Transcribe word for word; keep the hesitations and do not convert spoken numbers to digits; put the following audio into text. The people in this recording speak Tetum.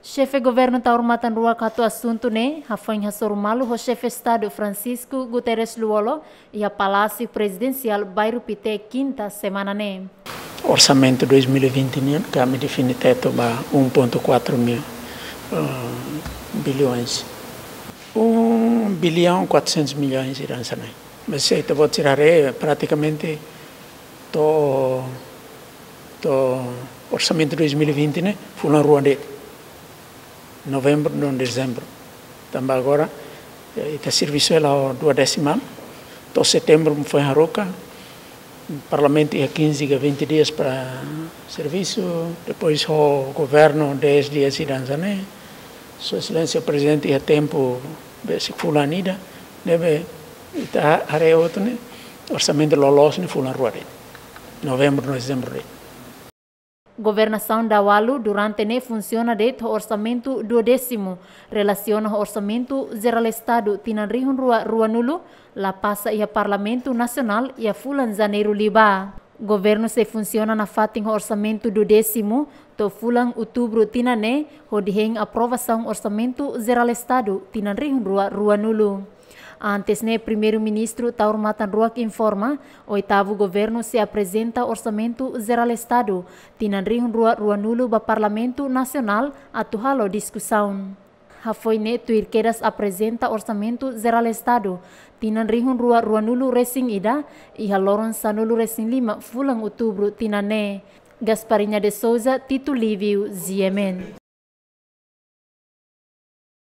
Xefe Governu Taur Matan Ruak hato'o asuntu ne'e hafoin hasoru malu ho Xefe Estadu Francisco Guterres Lú-Olo iha Palásiu Prezidensiál Bairru Pité, Kinta semana ne'e. Orsamentu dois mil e vinte nian, kami define tetu ba um ponto quatro mil, ah, bilhões. Um bilhão quatrocentos milhões ida hanesan ne'e. Mas se ita-boot sira haree, pratikamente to'o, to'o orsamentu dois mil e vinte ne'e fulan rua de'it. Novembru no dezembru. Tanba agora, eh, ita servisu hela ho dua desimál. To'o setembru foin haruka. Parlamentu iha quinze ka vinte dias para servisu. Depois ho governu dez dias ida hanesan ne'e. Sua Exelénsia Prezidente iha tempu besik fulan ida. Ne'ebé ita haree hotu ne'e, orsamentu loloos ne'e fulan rua de'it. Novembru no dezembru de'it. Governasaun daualu durante ne'e funsiona de'it ho orsamentu duodésimu, relasiona ho Orsamentu Jerál Estadu tinan rihun rua ruanulu, la pasa iha Parlamentu Nasionál iha fulan Janeiru liubá. Governu sei funsiona nafatin ho orsamentu duodésimu to'o fulan Outubru tinan ne'e, hodi hein aprovasaun Orsamentu Jerál Estadu tinan rihun rua ruanulu. Antes ne'e, Primeiru-Ministru Taur Matan Ruak informa, oitavu governu sei aprezenta Orsamentu Jerál Estadu tinan rihun rua ruanulu ba Parlamentu Nasionál atu halo diskusaun. Hafoin ne'e, tuir kedas aprezenta Orsamentu Jerál Estadu tinan rihun rua ruanulu resin ida iha loron sanulu resin lima fulan Outubru tinan ne'e. Gasparinha de Souza, Tito Livio, G M N.